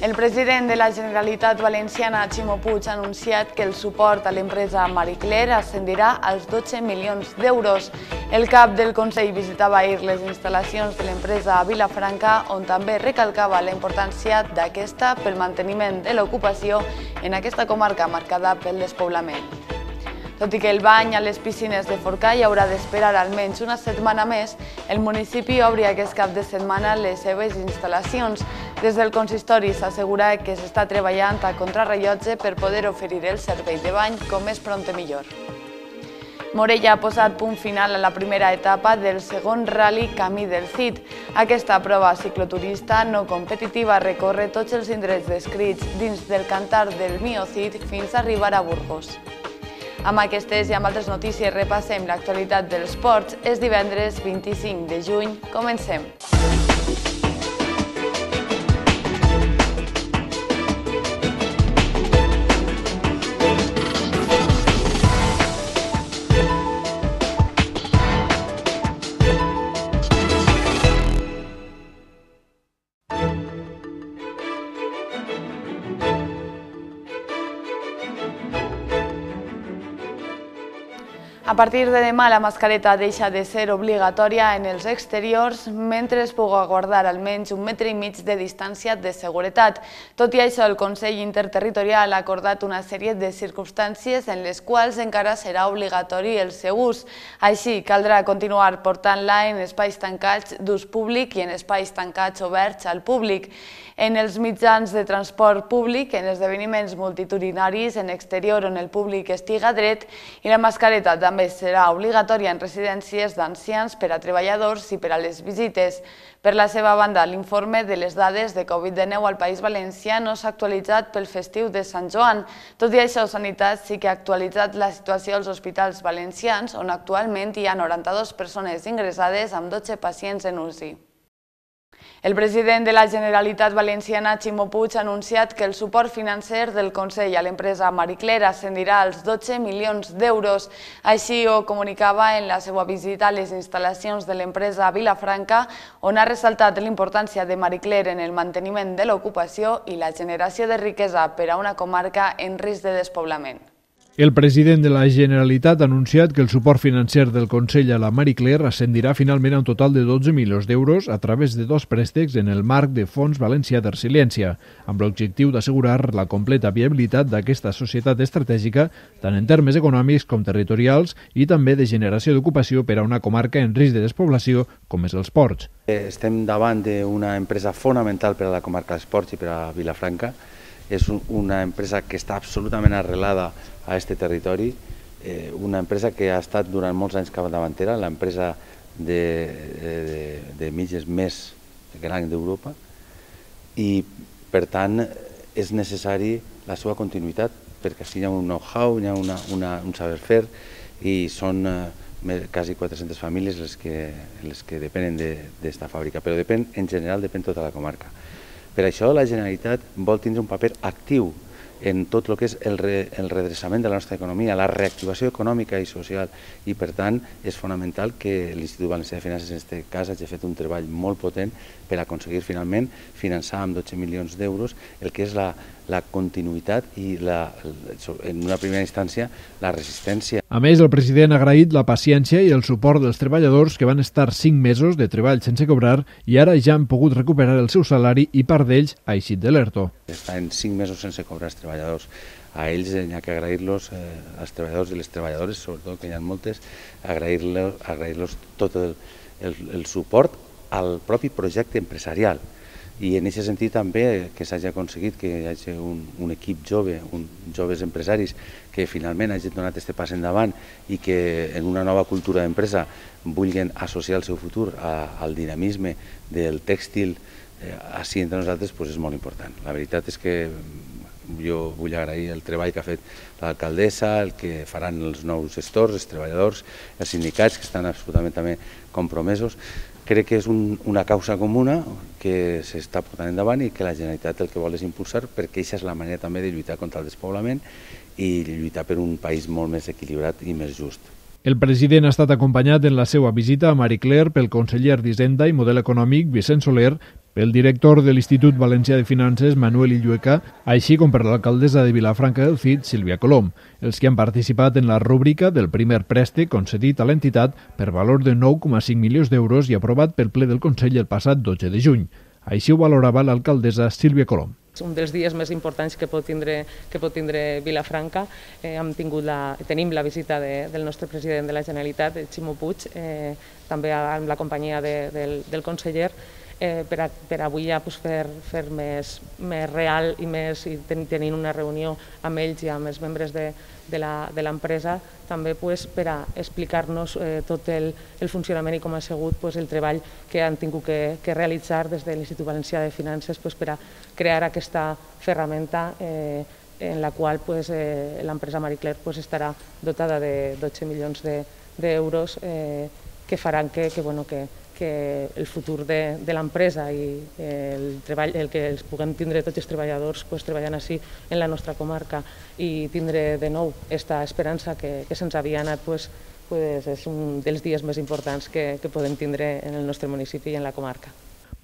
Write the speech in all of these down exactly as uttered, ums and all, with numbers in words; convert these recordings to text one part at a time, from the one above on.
El president de la Generalitat Valenciana, Ximo Puig, ha anunciat que el suport a l'empresa Marie Claire ascendirà als dotze milions d'euros. El cap del Consell visitava ahir les instal·lacions de l'empresa a Vilafranca, on també recalcava la importància d'aquesta pel manteniment de l'ocupació en aquesta comarca marcada pel despoblament. Tot i que el bany a les piscines de Forcall haurà d'esperar almenys una setmana més, el municipi obri aquest cap de setmana les seves instal·lacions. Des del consistori s'assegura que s'està treballant a contrarrellotge per poder oferir el servei de bany com més prompte millor. Morella ha posat punt final a la primera etapa del segon Rally Camí del Cid. Aquesta prova cicloturista no competitiva recorre tots els indrets descrits dins del cantar del Miocid fins a arribar a Burgos. Amb aquestes i amb altres notícies repassem l'actualitat dels esports. És divendres vint-i-cinc de juny. Comencem. A partir de demà, la mascareta deixa de ser obligatòria en els exteriors mentre es puga guardar almenys un metre i mig de distància de seguretat. Tot i això, el Consell Interterritorial ha acordat una sèrie de circumstàncies en les quals encara serà obligatori el seu ús. Així, caldrà continuar portant-la en espais tancats d'ús públic i en espais tancats oberts al públic, en els mitjans de transport públic, en esdeveniments multitudinaris, en exterior on el públic estiga dret, i la mascareta també serà obligatòria en residències d'ancians, per a treballadors i per a les visites. Per la seva banda, l'informe de les dades de Covid dinou al País Valencià no s'ha actualitzat pel festiu de Sant Joan. Tot i això, Sanitat sí que ha actualitzat la situació als hospitals valencians, on actualment hi ha noranta-dues persones ingressades amb dotze pacients en U C I. El president de la Generalitat Valenciana, Ximo Puig, ha anunciat que el suport financer del Consell a l'empresa Marie Claire ascendirà als dotze milions d'euros. Així ho comunicava en la seva visita a les instal·lacions de l'empresa a Vilafranca, on ha ressaltat l'importància de Marie Claire en el manteniment de l'ocupació i la generació de riquesa per a una comarca en risc de despoblament. El president de la Generalitat ha anunciat que el suport financer del Consell a la Marie Claire ascendirà finalment a un total de dotze milions d'euros a través de dos préstecs en el marc de Fons Valencià de Resiliència, amb l'objectiu d'assegurar la completa viabilitat d'aquesta societat estratègica, tant en termes econòmics com territorials, i també de generació d'ocupació per a una comarca en risc de despoblació com és els ports. Estem davant d'una empresa fonamental per a la comarca dels ports i per a Vilafranca. És una empresa que està absolutament arrelada a aquest territori, una empresa que ha estat durant molts anys capdavantera, l'empresa de, de, de mitges més gran d'Europa, i per tant és necessari la seva continuïtat, perquè hi ha un know-how, hi ha una, una, un saber-fer, i són eh, quasi quatre-centes famílies les que, les que depenen d'esta fàbrica, però depèn, en general depèn tota la comarca. Per això la Generalitat vol tindre un paper actiu en tot el que és el, re, el redreçament de la nostra economia, la reactivació econòmica i social, i per tant és fonamental que l'Institut Valencià de Finances en aquest cas hagi fet un treball molt potent per aconseguir finalment finançar amb dotze milions d'euros el que és la, la continuïtat i la, en una primera instància la resistència. A més, el president ha agraït la paciència i el suport dels treballadors que van estar cinc mesos de treball sense cobrar i ara ja han pogut recuperar el seu salari i part d'ells ha eixit de l'ERTO. Estar en cinc mesos sense cobrar els treballadors. A ells hi ha que agrair-los, eh, als treballadors i les treballadores, sobretot que hi ha moltes, agrair-los agrair-los tot el, el, el suport al propi projecte empresarial. I en aquest sentit també que s'hagi aconseguit que hi hagi un, un equip jove, un, joves empresaris que finalment hagin donat aquest pas endavant i que en una nova cultura d'empresa vulguin associar el seu futur a, al dinamisme del tèxtil eh, així entre nosaltres, doncs és molt important. La veritat és que jo vull agrair el treball que ha fet l'alcaldessa, el que faran els nous gestors, els treballadors, els sindicats que estan absolutament també compromesos. Crec que és un, una causa comuna que s'està portant endavant i que la Generalitat el que vol és impulsar, perquè aquesta és la manera també de lluitar contra el despoblament i lluitar per un país molt més equilibrat i més just. El president ha estat acompanyat en la seva visita a Marie Claire pel conseller d'Hisenda i Model Econòmic Vicent Soler, pel director de l'Institut Valencià de Finances, Manuel Illueca, així com per l'alcaldessa de Vilafranca del Cid, Sílvia Colom, els que han participat en la rúbrica del primer préstec concedit a l'entitat per valor de nou coma cinc milions d'euros i aprovat pel ple del Consell el passat dotze de juny. Així ho valorava l'alcaldessa Sílvia Colom. És un dels dies més importants que pot tindre, que pot tindre Vilafranca. Eh, hem tingut la, tenim la visita de, del nostre president de la Generalitat, el Ximo Puig, eh, també amb la companyia de, del, del conseller, eh, per, a, per avui ja pues, fer, fer més, més real i més i ten, tenint una reunió amb ells i amb els membres de, de l'empresa, també pues, per a explicar-nos eh, tot el, el funcionament i com ha sigut pues, el treball que han tingut que, que realitzar des de l'Institut Valencià de Finances pues, per a crear aquesta ferramenta eh, en la qual pues, eh, l'empresa Marie Claire pues, estarà dotada de dotze milions d'euros de, eh, que faran que, que, bueno, que, que el futur de, de l'empresa i el treball, el que els puguem tindre tots els treballadors pues, treballant així en la nostra comarca i tindre de nou aquesta esperança que, que se'ns havia anat pues, pues, és un dels dies més importants que, que podem tindre en el nostre municipi i en la comarca.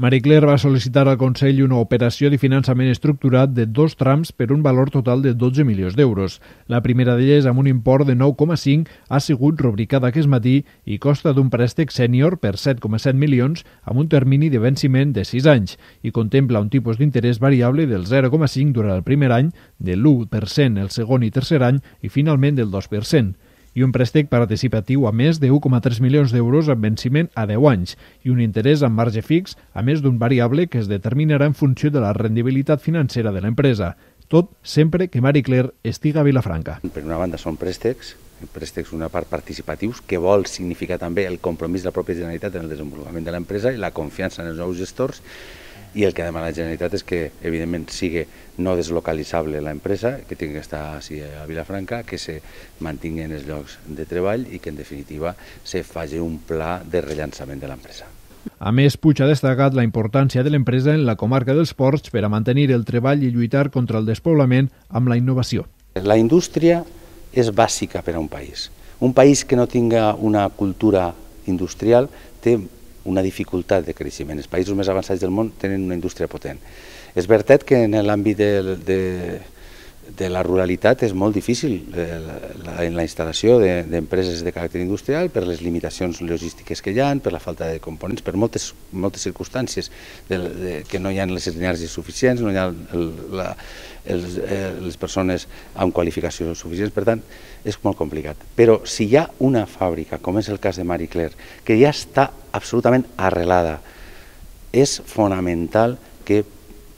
Marie Claire va sol·licitar al Consell una operació de finançament estructurat de dos trams per un valor total de dotze milions d'euros. La primera d'elles, amb un import de nou coma cinc, ha sigut rubricada aquest matí i costa d'un préstec sènior per set coma set milions amb un termini de venciment de sis anys i contempla un tipus d'interès variable del zero coma cinc durant el primer any, del l'u per cent el segon i tercer any i finalment del dos per cent. I un préstec participatiu a més de u coma tres milions d'euros amb venciment a deu anys i un interès amb marge fix a més d'un variable que es determinarà en funció de la rendibilitat financera de l'empresa. Tot sempre que Marie Claire estiga a Vilafranca. Per una banda són préstecs, préstecs una part participatius, que vol significar també el compromís de la pròpia Generalitat en el desenvolupament de l'empresa i la confiança en els nous gestors, i el que demana la Generalitat és que, evidentment, sigui no deslocalitzable l'empresa, que tingui que estar així a Vilafranca, que se mantinguin els llocs de treball i que, en definitiva, se faci un pla de rellançament de l'empresa. A més, Puig ha destacat la importància de l'empresa en la comarca dels ports per a mantenir el treball i lluitar contra el despoblament amb la innovació. La indústria és bàsica per a un país. Un país que no tinga una cultura industrial té una dificultat de creixement. Els països més avançats del món tenen una indústria potent. És veritat que en l'àmbit de, de, de la ruralitat és molt difícil la, la instal·lació d'empreses de, de caràcter industrial per les limitacions logístiques que hi ha, per la falta de components, per moltes, moltes circumstàncies de, de, que no hi ha les energies suficients, no hi ha el, la, els, eh, les persones amb qualificació suficients, per tant, és molt complicat. Però si hi ha una fàbrica, com és el cas de Marie Claire, que ja està absolutament arrelada, és fonamental que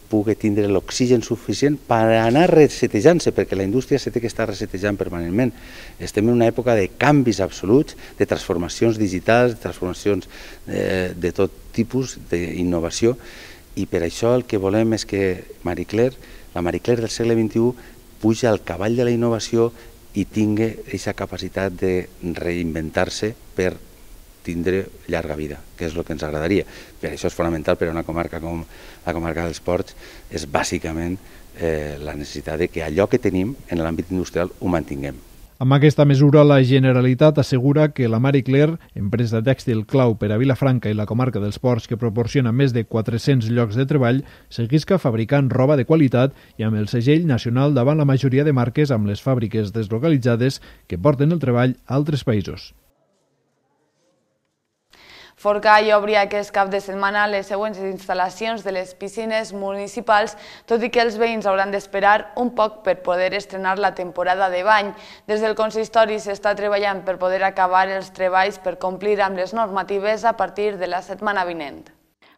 pugui tindre l'oxigen suficient per anar resetejant-se, perquè la indústria se té que estar resetejant permanentment. Estem en una època de canvis absoluts, de transformacions digitals, de transformacions eh, de tot tipus d'innovació, i per això el que volem és que Marie Claire, la Marie Claire del segle vint-i-u, puja al cavall de la innovació i tingui aquesta capacitat de reinventar-se per tindre llarga vida, que és el que ens agradaria. Per això és fonamental per a una comarca com la comarca dels Ports, és bàsicament eh, la necessitat de que allò que tenim en l'àmbit industrial ho mantinguem. Amb aquesta mesura, la Generalitat assegura que la Marie Claire, empresa tèxtil clau per a Vilafranca i la comarca dels Ports que proporciona més de quatre-cents llocs de treball, seguisca fabricant roba de qualitat i amb el segell nacional davant la majoria de marques amb les fàbriques deslocalitzades que porten el treball a altres països. Forcall obri aquest cap de setmana les següents instal·lacions de les piscines municipals, tot i que els veïns hauran d'esperar un poc per poder estrenar la temporada de bany. Des del consistori s'està treballant per poder acabar els treballs per complir amb les normatives a partir de la setmana vinent.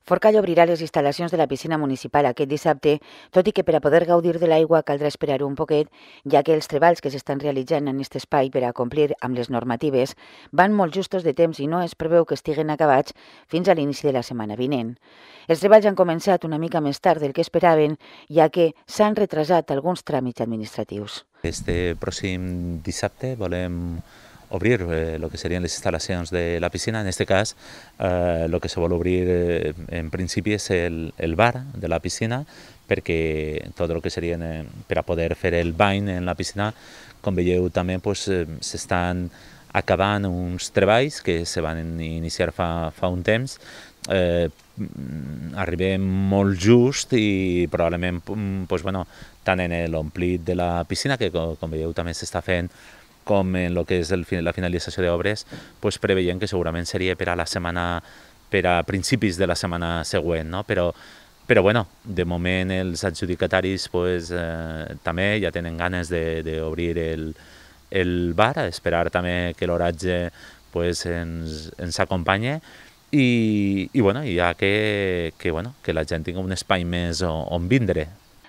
Forcall obrirà les instal·lacions de la piscina municipal aquest dissabte, tot i que per a poder gaudir de l'aigua caldrà esperar un poquet, ja que els treballs que s'estan realitzant en aquest espai per a complir amb les normatives van molt justos de temps i no es preveu que estiguen acabats fins a l'inici de la setmana vinent. Els treballs han començat una mica més tard del que esperaven, ja que s'han retrasat alguns tràmits administratius. Este pròxim dissabte volem obrir eh, lo que serien les instal·lacions de la piscina. En este cas, eh, lo que se vol obrir eh, en principi és el, el bar de la piscina, perquè tot el que serien eh, per a poder fer el bany en la piscina, com veieu també pues, eh, s'estan acabant uns treballs que se van iniciar fa, fa un temps, eh, arribem molt just i probablement pues, bueno, tant en l'omplit de la piscina, que com, com veieu també s'està fent, com en el que és el, la finalització d'obres, pues, preveient que segurament seria per a la setmana, per a principis de la setmana següent, no? Però, però bueno, de moment els adjudicataris pues, eh, també ja tenen ganes d'obrir el, el bar, a esperar també que l'oratge pues, ens, ens acompanyi i, i bueno, ja que, que, bueno, que la gent tingui un espai més on, on vindre.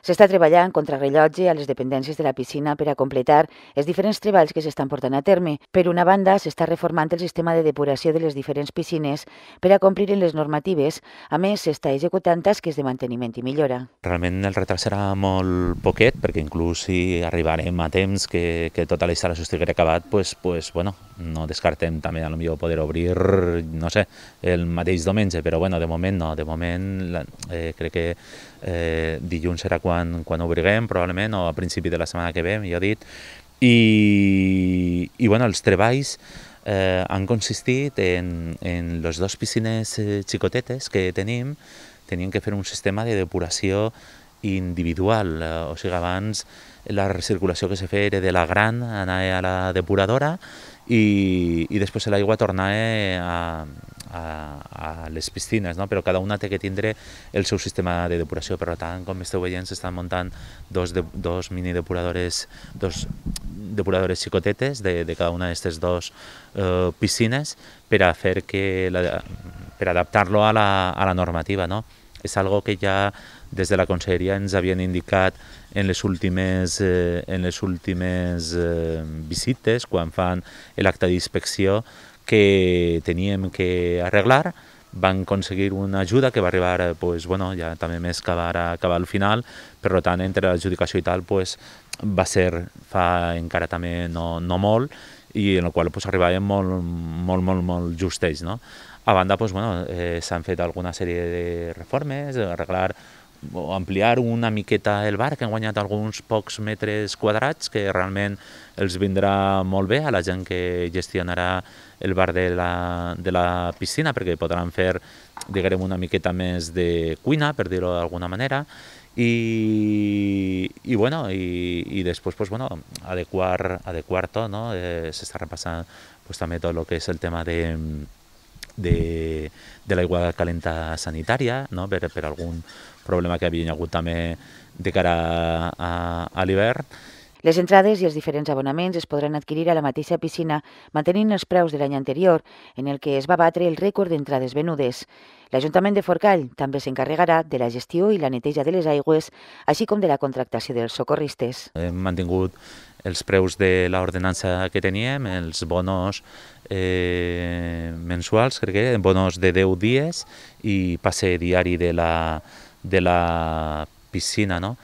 S'està treballant contra rellotge a les dependències de la piscina per a completar els diferents treballs que s'estan portant a terme. Per una banda, s'està reformant el sistema de depuració de les diferents piscines per a complir en les normatives. A més, s'està executant tasques de manteniment i millora. Realment el retard serà molt poquet, perquè inclús si arribarem a temps que, que tota la instal·lació estigui acabat, pues, pues, bueno, no descartem també a lo millor poder obrir, no sé, el mateix diumenge, però bueno, de moment no, de moment eh, crec que eh, dilluns serà quan, quan obriguem, probablement, o a principi de la setmana que ve, millor dit, i, i bueno, els treballs eh, han consistit en, en les dues piscines eh, xicotetes que tenim, tenien que fer un sistema de depuració individual, eh, o sigui, abans la recirculació que se feia era de la gran, anar a la depuradora, i, i després l'aigua tornava a, a, a les piscines, no? Però cada una té que tindre el seu sistema de depuració. Per tant, com esteu veient, s'estan muntant dos, de, dos mini depuradores, dos depuradores xicotetes de, de cada una d'aquestes dues eh, piscines per a fer que la, per adaptar-lo a la, a la normativa, no? És algo que ja des de la Conselleria ens havien indicat en les últimes, eh, en les últimes eh, visites, quan fan l'acte d'inspecció, que teníem que arreglar. Van aconseguir una ajuda que va arribar, pues, bueno, ja també més que va acabar al final, per tant, entre l'adjudicació i tal, pues, va ser fa encara també no, no molt, i en el qual pues, arribàvem molt, molt, molt, molt justells, no? A banda, pues, bueno, eh, s'han fet alguna sèrie de reformes, arreglar o ampliar una miqueta el bar, que han guanyat alguns pocs metres quadrats, que realment els vindrà molt bé a la gent que gestionarà el bar de la, de la piscina, perquè podran fer, diguem, una miqueta més de cuina, per dir-ho d'alguna manera, i, i, bueno, i, i després pues, bueno, adequar, adequar tot, no? Eh, s'està repassant pues, també tot el que és el tema de de, de l'aigua calenta sanitària, no? per, per algun problema que havia hagut també de cara a, a, a l'hivern. Les entrades i els diferents abonaments es podran adquirir a la mateixa piscina mantenint els preus de l'any anterior, en el que es va batre el rècord d'entrades venudes. L'Ajuntament de Forcall també s'encarregarà de la gestió i la neteja de les aigües, així com de la contractació dels socorristes. Hem mantingut els preus de l'ordenança que teníem, els bonos eh, mensuals, crec que eren bonos de deu dies i passe diari de la, de la piscina, no?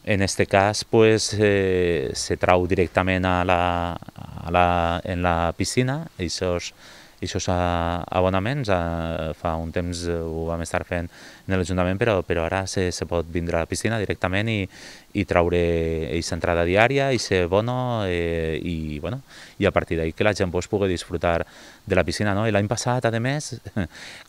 En este cas, pues, eh, se trau directament a la, a la, en la piscina, aquests aquests abonaments. Eh, fa un temps ho vam estar fent en l'Ajuntament, però, però ara se, se pot vindre a la piscina directament i, i traure aquesta entrada diària, aquest bono, eh, i, bueno, i a partir d'ahí que la gent pues, pugui disfrutar de la piscina, no? L'any passat, a més,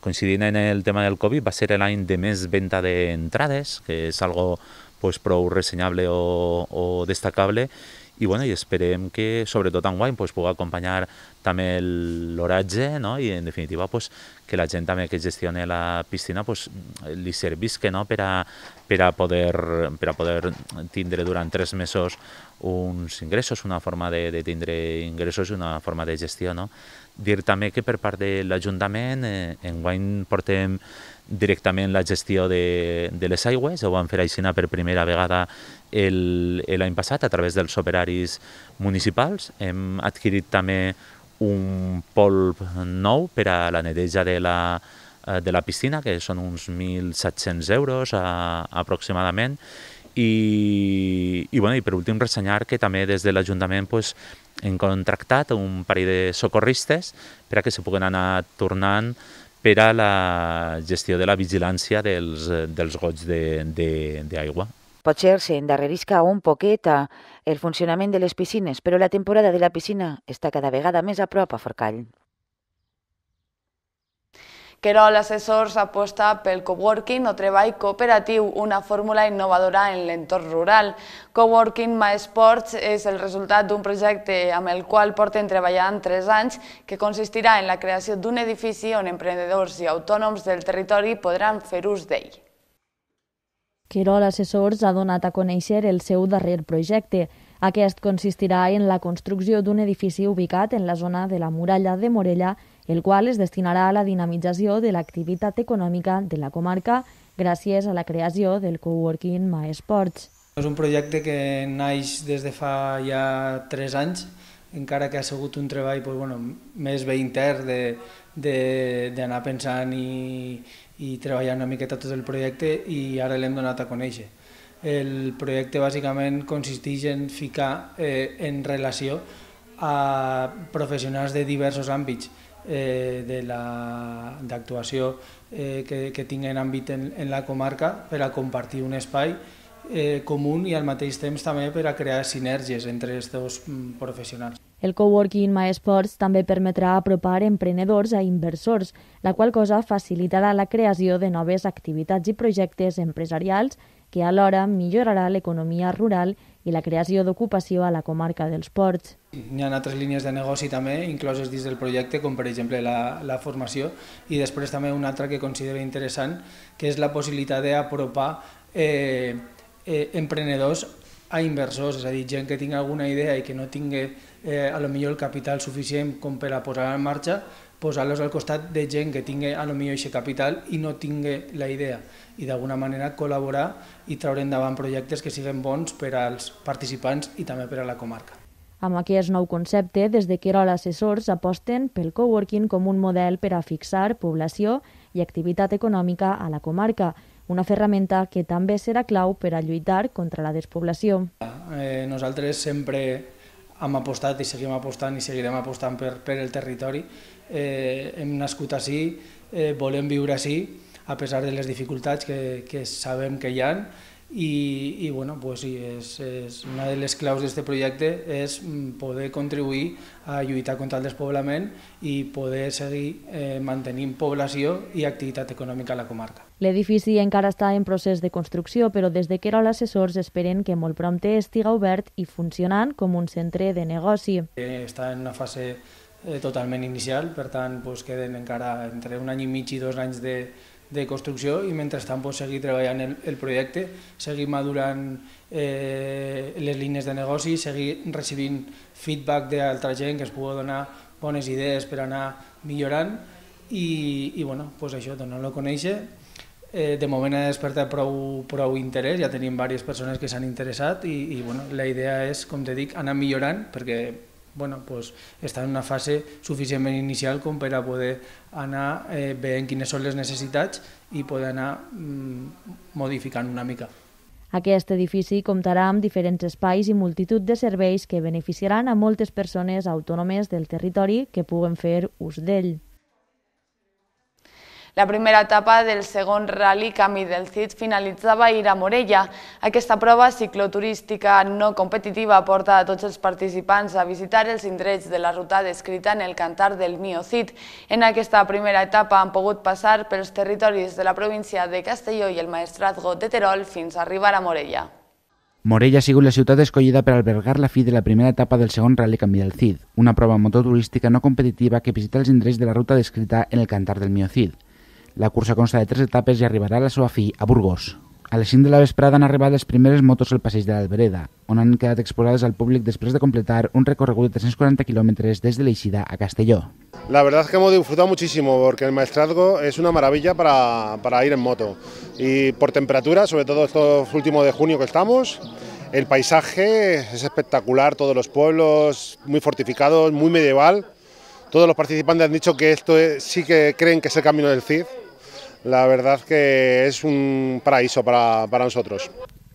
coincidint en el tema del Covid, va ser l'any de més venda d'entrades, que és algo pues, prou ressenyable o, o destacable, i, bueno, i esperem que, sobretot enguany, pues, pugui acompanyar també l'oratge, no? I, en definitiva, pues, que la gent també que gestioni la piscina pues, li servisca, no? per, a, per, a poder, per a poder tindre durant tres mesos uns ingressos, una forma de, de tindre ingressos i una forma de gestió, no? Dir també que per part de l'Ajuntament, eh, enguany portem directament la gestió de, de les aigües, ho vam fer així per primera vegada l'any passat a través dels operaris municipals. Hem adquirit també un polp nou per a la neteja de la, de la piscina, que són uns mil set-cents euros a, aproximadament. I, i, bueno, i per últim ressenyar que també des de l'Ajuntament pues, hem contractat un parell de socorristes per a que se puguen anar tornant per a la gestió de la vigilància dels, dels gots d'aigua. Potser s'endarrerisca un poquet el funcionament de les piscines, però la temporada de la piscina està cada vegada més a prop a Forcall. Querol Assessors aposta pel coworking o treball cooperatiu, una fórmula innovadora en l'entorn rural. Coworking MySports és el resultat d'un projecte amb el qual porten treballant tres anys que consistirà en la creació d'un edifici on emprenedors i autònoms del territori podran fer ús d'ell. Querol Assessors ha donat a conèixer el seu darrer projecte. Aquest consistirà en la construcció d'un edifici ubicat en la zona de la muralla de Morella, el qual es destinarà a la dinamització de l'activitat econòmica de la comarca gràcies a la creació del coworking MySports. És un projecte que naix des de fa ja tres anys, encara que ha sigut un treball doncs, bueno, més bé intern d'anar pensant i, i treballar una miqueta tot el projecte, i ara l'hem donat a conèixer. El projecte bàsicament consisteix en ficar eh, en relació a professionals de diversos àmbits eh, d'actuació eh, que, que tinguen àmbit en, en la comarca per a compartir un espai eh, comú i al mateix temps també per a crear sinergies entre els dos professionals. El coworking MySports també permetrà apropar emprenedors a inversors, la qual cosa facilitarà la creació de noves activitats i projectes empresarials que alhora millorarà l'economia rural i la creació d'ocupació a la comarca dels Ports. Hi ha altres línies de negoci també incloses dins del projecte, com per exemple la, la formació, i després també una altra que considero interessant, que és la possibilitat d'apropar eh, eh, emprenedors a inversors, és a dir, gent que tingui alguna idea i que no tingui eh, a lo millor el capital suficient com per a posar en marxa, posar-los al costat de gent que tingui a lo millor aquest capital i no tingui la idea, i d'alguna manera col·laborar i treure endavant projectes que siguin bons per als participants i també per a la comarca. Amb aquest nou concepte, des de Querol Assessors aposten pel coworking com un model per a fixar població i activitat econòmica a la comarca, una ferramenta que també serà clau per a lluitar contra la despoblació. Eh, nosaltres sempre hem apostat i seguim apostant i seguirem apostant per, per el territori. Eh, hem nascut ací, eh, volem viure ací, a pesar de les dificultats que, que sabem que hi ha, i, i bueno, pues sí, és, és una de les claus d'aquest projecte és poder contribuir a lluitar contra el despoblament i poder seguir eh, mantenint població i activitat econòmica a la comarca. L'edifici encara està en procés de construcció, però des de Querol Assessors esperen que molt prompte estiga obert i funcionant com un centre de negoci. Eh, està en una fase eh, totalment inicial, per tant pues, queden encara entre un any i mig i dos anys de de construcció, i mentrestant pues, seguir treballant el, el projecte, seguir madurant eh, les línies de negoci, seguir recibint feedback d'altra gent que es pugui donar bones idees per anar millorant i, i bueno, pues això, donar-lo a conèixer. Eh, de moment ha despertat prou, prou interès, ja tenim diverses persones que s'han interessat i, i bueno, la idea és, com te dic, anar millorant perquè bueno, pues, està en una fase suficientment inicial com per a poder anar eh, veient quines són les necessitats i poder anar mm, modificant una mica. Aquest edifici comptarà amb diferents espais i multitud de serveis que beneficiaran a moltes persones autònomes del territori que puguen fer ús d'ell. La primera etapa del segon Rally Camí del Cid finalitzava ahir a Morella. Aquesta prova cicloturística no competitiva porta a tots els participants a visitar els indrets de la ruta descrita en el Cantar del Mío Cid. En aquesta primera etapa han pogut passar pels territoris de la província de Castelló i el Maestrazgo de Terol fins a arribar a Morella. Morella ha sigut la ciutat escollida per albergar la fi de la primera etapa del segon Rally Camí del Cid, una prova mototurística no competitiva que visita els indrets de la ruta descrita en el Cantar del Mío Cid. La cursa consta de tres etapes i arribarà a la seva fi a Burgos. A les cinc de la vesprada han arribat les primeres motos al passeig de l'Albereda, on han quedat exposades al públic después de completar un recorregut de trescientos cuarenta kilómetros desde Leixida a Castelló. La verdad es que hemos disfrutado muchísimo porque el Maestrazgo es una maravilla para, para ir en moto y por temperatura, sobre todo estos últimos de junio que estamos, el paisaje es espectacular, todos los pueblos muy fortificados, muy medieval. Todos los participantes han dicho que esto es, sí que creen que es el camino del Cid. La verdad que és un paraíso para, para nosotros.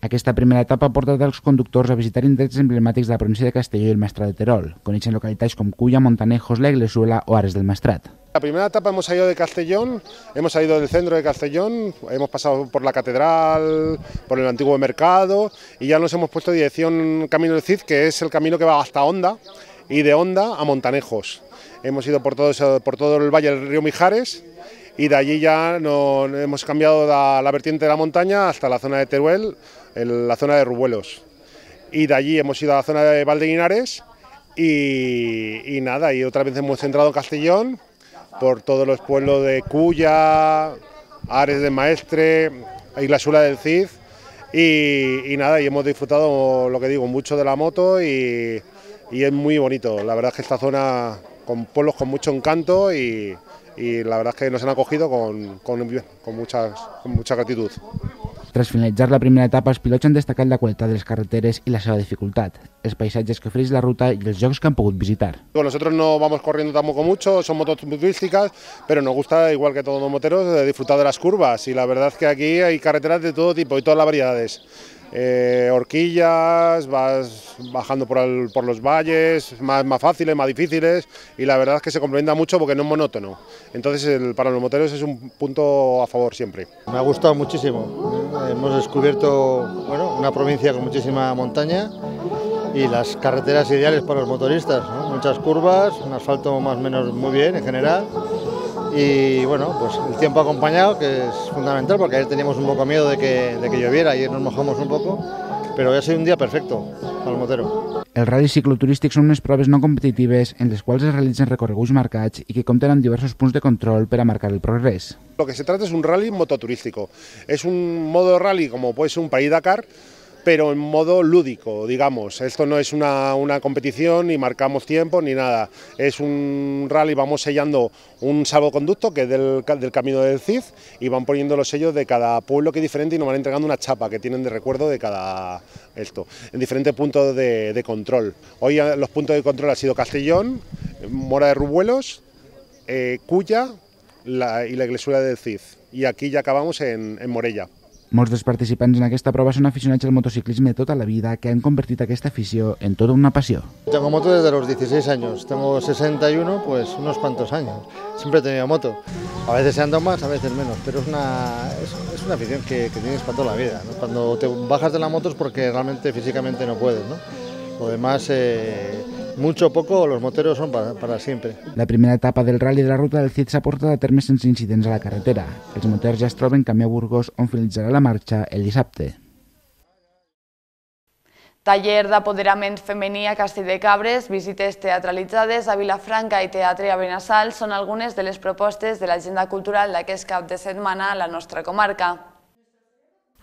Aquesta primera etapa ha portat als conductors a visitar indrets emblemàtics de la província de Castelló i el Maestrat de Terol. Coneixen localitats com Culla, Montanejos, La Iglesuela o Ares del Maestrat. La primera etapa hemos salido de Castellón, hemos salido del centro de Castellón, hemos pasado por la catedral, por el antiguo mercado y ya nos hemos puesto dirección Camino del Cid, que es el camino que va hasta Honda y de Honda a Montanejos. Hemos ido por todo, eso, por todo el valle del río Mijares y de allí ya nos hemos cambiado la, la vertiente de la montaña hasta la zona de Teruel, en la zona de Rubuelos. Y de allí hemos ido a la zona de Valdeguinares y, y nada, y otra vez hemos entrado en Castellón por todos los pueblos de Culla, Ares de Maestre, Isla Sula del Cid y, y nada, y hemos disfrutado, lo que digo, mucho de la moto y, y es muy bonito. La verdad es que esta zona con pueblos con mucho encanto y, y la verdad es que nos han acogido con, con, con, muchas, con mucha gratitud. Tras finalitzar la primera etapa, els pilots han destacat la qualitat de les carreteres i la seva dificultat, els paisatges que ofereix la ruta i els llocs que han pogut visitar. Nosotros no vamos corriendo tampoco mucho, son motos turísticas, pero nos gusta, igual que todos los moteros, disfrutar de las curvas y la verdad es que aquí hay carreteras de todo tipo y todas las variedades. Eh, horquillas, vas bajando por, el, por los valles, más, más fáciles, más difíciles y la verdad es que se complementa mucho porque no es monótono. Entonces el, para los moteros es un punto a favor siempre. Me ha gustado muchísimo. Hemos descubierto bueno, una provincia con muchísima montaña y las carreteras ideales para los motoristas, ¿no? Muchas curvas, un asfalto más o menos muy bien en general. Y bueno, pues el tiempo acompañado, que es fundamental, porque ayer teníamos un poco miedo de que, de que lloviera, ayer nos mojamos un poco, però ha sigut un dia perfecte al motero. Els ral·lis cicloturístics són unes proves no competitives en les quals es realitzen recorreguts marcats i que compten amb diversos punts de control per a marcar el progrés. Lo que se trata es un rally mototurístico. Es un modo rally como puede ser un París-Dakar, pero en modo lúdico, digamos. Esto no es una, una competición, ni marcamos tiempo, ni nada. Es un rally, vamos sellando un salvoconducto que es del, del Camino del Cid y van poniendo los sellos de cada pueblo que es diferente y nos van entregando una chapa que tienen de recuerdo de cada esto, en diferentes puntos de, de control. Hoy los puntos de control han sido Castellón, Mora de Rubuelos, eh, Culla la, y la Iglesia del Cid. Y aquí ya acabamos en, en Morella. Molts dels participants en aquesta prova són aficionats al motociclisme de tota la vida que han convertit aquesta afició en tota una pasión. Tengo moto desde los dieciséis años, tengo sesenta y uno, pues unos cuantos años. Siempre he tenido moto, a veces ando más, a veces menos, pero es una, es, es una afición que, que tienes para toda la vida, ¿no? Cuando te bajas de la moto es porque realmente físicamente no puedes, ¿no? Lo demás, eh, mucho o poco, los moteros son para, para siempre. La primera etapa del Rally de la Ruta del Cid s'ha portat a terme sense incidents a la carretera. Els moters ja es troben camí a Burgos, on finalitzarà la marxa el dissabte. Taller d'apoderament femení a Castell de Cabres, visites teatralitzades a Vilafranca i teatre a Benassal són algunes de les propostes de l'agenda cultural d'aquest cap de setmana a la nostra comarca.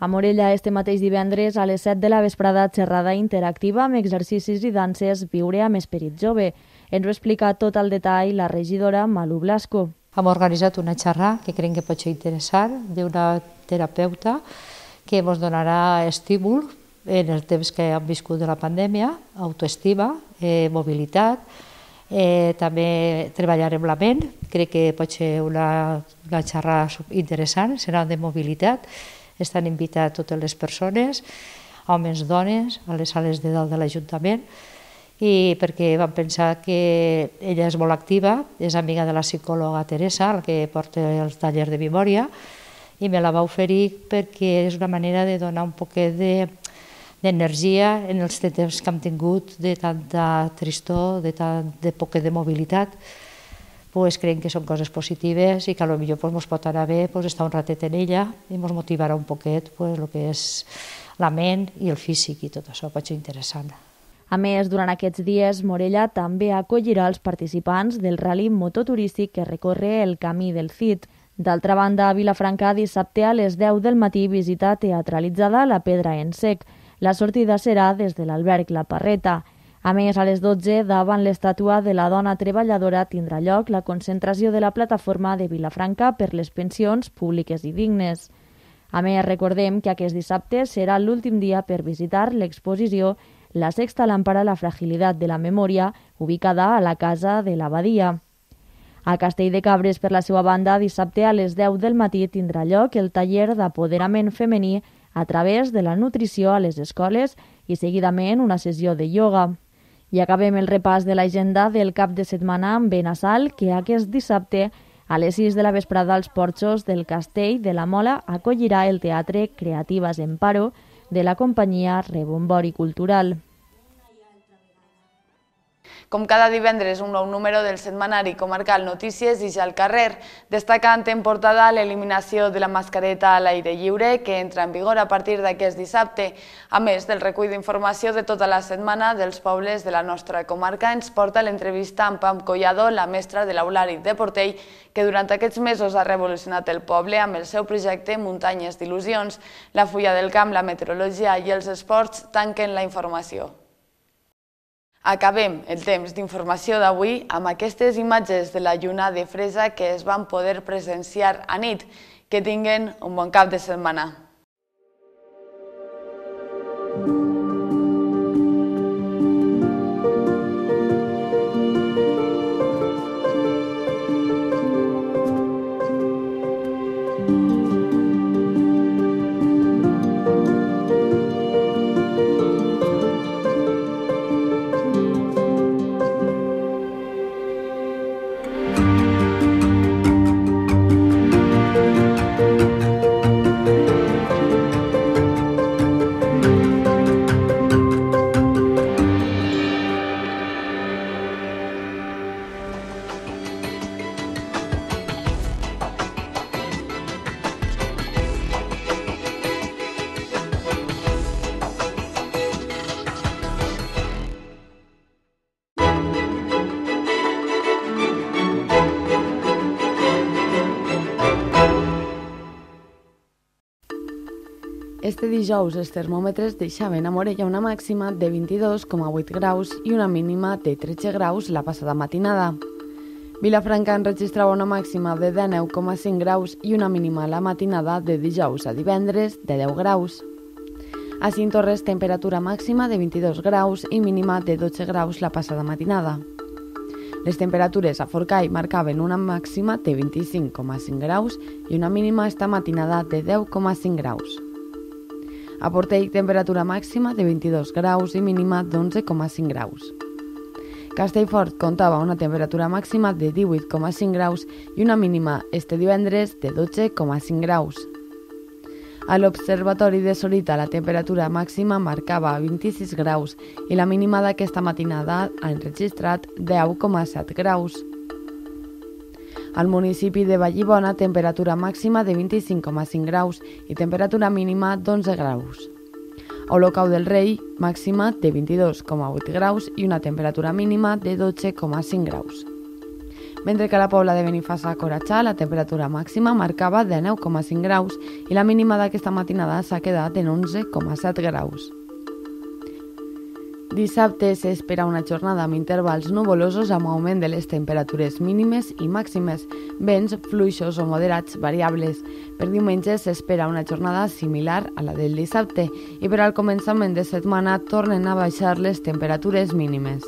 A Morella, este mateix divendres, a les set de la vesprada, xerrada interactiva amb exercicis i danses Viure amb esperit jove. Ens ho explica tot el detall la regidora Malu Blasco. Hem organitzat una xerrada que creiem que pot ser interessant d'una terapeuta que ens donarà estímul en el temps que hem viscut de la pandèmia, autoestima, eh, mobilitat, eh, també treballar amb la ment. Crec que pot ser una, una xerrada interessant, serà de mobilitat. Estan invitats totes les persones, homes, dones, a les sales de dalt de l'Ajuntament, i perquè vam pensar que ella és molt activa, és amiga de la psicòloga Teresa, la que porta el taller de memòria, i me la va oferir perquè és una manera de donar un poquet de d'energia en els temps que hem tingut de tanta tristor, de tant de poquet de mobilitat. Pues creiem que són coses positives i que potser pues, ens pot anar bé pues, estar un ratet en ella i ens motivarà un poquet pues, el que és la ment i el físic i tot això pot ser interessant. A més, durant aquests dies, Morella també acollirà els participants del rally mototurístic que recorre el Camí del Cid. D'altra banda, a Vilafranca, dissabte a les deu del matí, visita teatralitzada La Pedra en Sec. La sortida serà des de l'alberg La Parreta. A més, a les dotze, davant l'estàtua de la dona treballadora, tindrà lloc la concentració de la plataforma de Vilafranca per les pensions públiques i dignes. A més, recordem que aquest dissabte serà l'últim dia per visitar l'exposició La sexta lámpara, la fragilitat de la memòria, ubicada a la Casa de l'Abadia. A Castell de Cabres, per la seva banda, dissabte a les deu del matí tindrà lloc el taller d'apoderament femení a través de la nutrició a les escoles i seguidament una sessió de ioga. I acabem el repàs de l'agenda del cap de setmana amb Benassal, que aquest dissabte a les sis de la vesprada als porxos del Castell de la Mola acollirà el Teatre Creatives en Paro de la companyia Rebombori Cultural. Com cada divendres, un nou número del setmanari comarcal Notícies i ja al carrer, destacant en portada l'eliminació de la mascareta a l'aire lliure, que entra en vigor a partir d'aquest dissabte. A més del recull d'informació de tota la setmana dels pobles de la nostra comarca, ens porta l'entrevista amb Pam Collado, la mestra de l'Aulari de Portell, que durant aquests mesos ha revolucionat el poble amb el seu projecte Muntanyes d'il·lusions. La fulla del camp, la meteorologia i els esports tanquen la informació. Acabem el temps d'informació d'avui amb aquestes imatges de la lluna de fresa que es van poder presenciar a nit. Que tinguen un bon cap de setmana. Este dijous els termòmetres deixaven a Morella una màxima de vint-i-dos coma vuit graus i una mínima de tretze graus la passada matinada. Vilafranca enregistrava una màxima de dinou coma cinc graus i una mínima la matinada de dijous a divendres de deu graus. A Cinctorres, temperatura màxima de vint-i-dos graus i mínima de dotze graus la passada matinada. Les temperatures a Forcall marcaven una màxima de vint-i-cinc coma cinc graus i una mínima esta matinada de deu coma cinc graus. A Portell, temperatura màxima de vint-i-dos graus i mínima d'onze coma cinc graus. Castellfort comptava una temperatura màxima de divuit coma cinc graus i una mínima este divendres de dotze coma cinc graus. A l'Observatori de Sorita la temperatura màxima marcava vint-i-sis graus i la mínima d'aquesta matinada ha enregistrat deu coma set graus. Al municipi de Vallibona, temperatura màxima de vint-i-cinc coma cinc graus i temperatura mínima d'onze graus. A Olocau del Rei, màxima de vint-i-dos coma vuit graus i una temperatura mínima de dotze coma cinc graus. Mentre que a la Pobla de Benifassà, Coratxà, la temperatura màxima marcava dinou coma cinc graus i la mínima d'aquesta matinada s'ha quedat en onze coma set graus. Dissabte s'espera una jornada amb intervals nuvolosos amb augment de les temperatures mínimes i màximes, vents fluixos o moderats variables. Per diumenge s'espera una jornada similar a la del dissabte i per al començament de setmana tornen a baixar les temperatures mínimes.